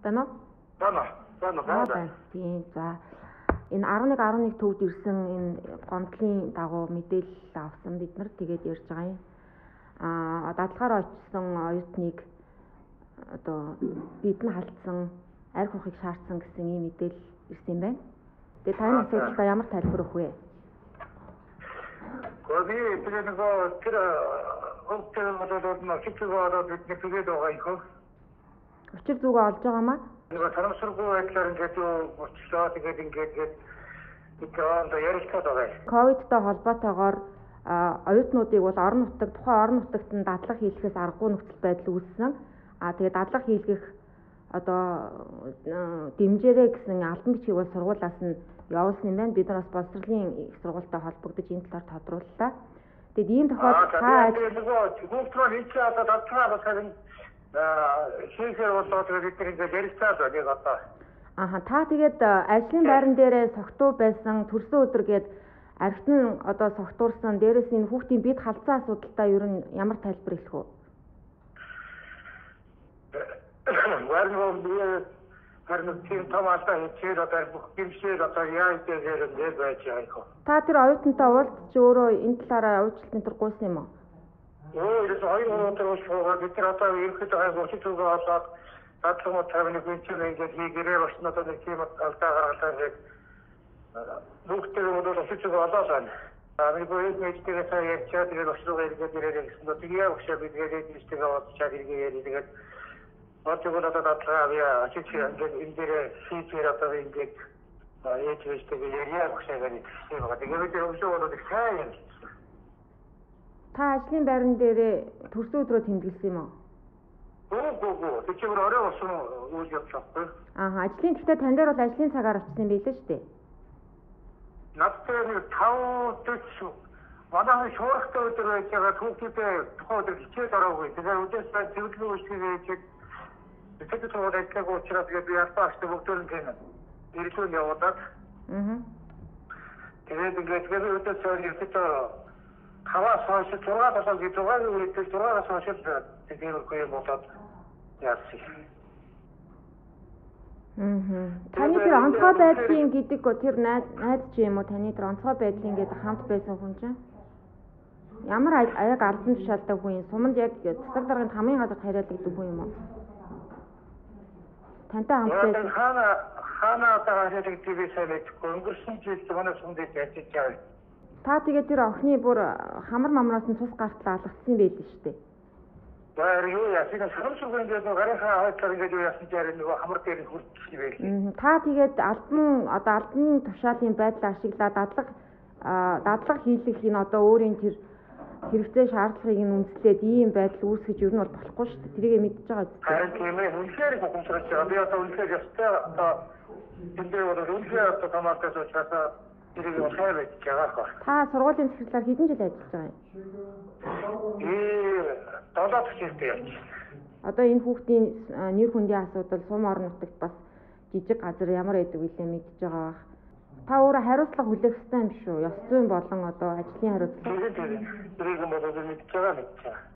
байна уу? Байна. Тийм. За. Энэ 11 төвд ирсэн энэ гомдлын дагуу мэдээлэл авсан бид нар тэгээд ярьж байгаа юм. Дадлахаар очсон оюутныг одоо бидэн халдсан, арх ухыг шаардсан гэсэн ийм мэдээлэл ирсэн юм байна. Тэгээд таны асуудалтай ямар тайлбар өгөх вэ? Гэхдээ тэр өчтөр зүгөө олж байгаа маа? Нэг тарамсргүй байдлаар ингээд болчихлоо. Тэгээд ингээд ярилцаад байгаа. Ковидтой холбоотойгоор оюутнуудыг бол тухайн орон нутагт нь дадлага хийлгэхээс аргагүй нөхцөл байдал үүссэн. Тэгээд дадлага хийлгэх одоо дэмжээрэй гэсэн албан бичгийг бол сургуулиас нь явуулсан юм байна. Бид нар бас боловсролын их сургуультай холбогдож энэ талаар тодрууллаа. Тэгээд ийм тохиолдолд та гүнтрол энэ ч одоо дадлага бас харин хийхээр болоод бид нар ингээд ярилцаад байна одоо. Та тэгээд ажлын байран дээрээ согтуу байсан төрсөн өдөр гээд архит нь одоо согтуурсан дээрээс энэ хүүхдийн бид халдсан асуудалтай ер нь ямар тайлбар хэлэх вэ? Харин тийм томаалтай хийчихээд одоо бүх гимшээр одоо яаж дээр байж байгаа юм. Та тэр оюутантай уулзч өөрөө энэ талаараа уучлалтын төр гуйсан юм уу? Ерөөс хоёр өнөөдөр уулзсан. Бид нар одоо ерөнхийдөө гуйж байгаа болоод дадлага тавны хүнчээр ингээд хийгэрээ бас надад нэг тийм алдаа гаргалаа гэж бүгдээ бодоод очиж байгаа байна. Нэг хоёр мэдтэйгээ сая ярьчаад тэгээд ослоо ирээд ирээд гэсэн нь тэгээ өгшөө бидгээд ийштэйгээ бодчаад иргээ тэгээд одоо дадлага авъя очиж ингээд энэ дээр хийхээр одоо ингээд яаж хийжтэйгээ ярья өгшөө гэдэг юм байна. Тэгээд бид өгшөө болоод сайн юм. Та ажлын байран дээрээ төрсөн өдрөө тэмдэглэсэн юм уу? Гоо. Тэгэхээр орой болсон үйл явдал байхгүй. Ажлын гэхдээ тань дээр бол ажлын цагаар очсон байлээ шүү дээ. Надтай нэг 5:40 манай шуурхтай өдөр байж байгаа түүхийдээ тухайн өдөр хичээл ороогүй. Тэгэхээр өдөөсөө зөвлөгөө үйлчилгээ тэгээд товод ажиллах учраас тэгээд ястаа ашиг бүгдөө нь гэнэ. Ирэлтүүд явуулаад. Тэгээд ингээд өдөөсөө ерөөсөө 5-аас хойш 6-7 хойш тэгээд үгүй болоод яасан. Таны тэр онцгой байдлын гэдэг тэр найз чи юм уу? Таны тэр онцгой байдлын гэдэг хамт байсан хүн чинь ямар аяг албан тушаалтай хүн юм? Суманд яг засаг дарганд хамгийн гадаад хариалагддаг хүн юм уу? Тантай хамт байсан. Хана таашаалдаг дивэсэлэт өнгөрсөн жил манай сумд ажиллаж байгаа. Та тэгээд тэр охины бүр хамар мамраас нь цус гартал алгацсан байлээ шүү дээ. Юу яасан санамсргүй ингээд гарынхаа хойтлоор ингээд юу яасан дээр нэг хамар дээр хүрчихсэн байлээ. Та тэгээд албаны тушаалын байдлаа ашиглаад дадлага хийлгэх энэ одоо өөрийн тэр хэрэгцээ шаардлагыг нь үндэслээд ийм байдал үүсгэж ер нь бол болохгүй шүү дээ. Тэрийг мэдчихэж байгаа зү. Харин тийм ээ. Үнэхээр гомцрож байгаа. Би одоо үнэхээр ястай одоо энэ дээр үнэхээр одоо томаатаас уучрасаа тэрийг ухаар байж байгаа хөө. Та сургуулийн захирлаар хэдэн жил ажиллаж байгаа юм? 7 жилтэй явж. Одоо энэ хүүхдийн нэр хүндийн асуудал сум орон нутагт бас жижиг газар ямар байдаг вэ мэдчихэж байгаа бах. Та өөрөө хариуцлага хүлээх ёстой юм шүү. Ёс зүйн болон одоо ажлын хариуцлага. Тэрийг бодоод мэдчихэж байгаа.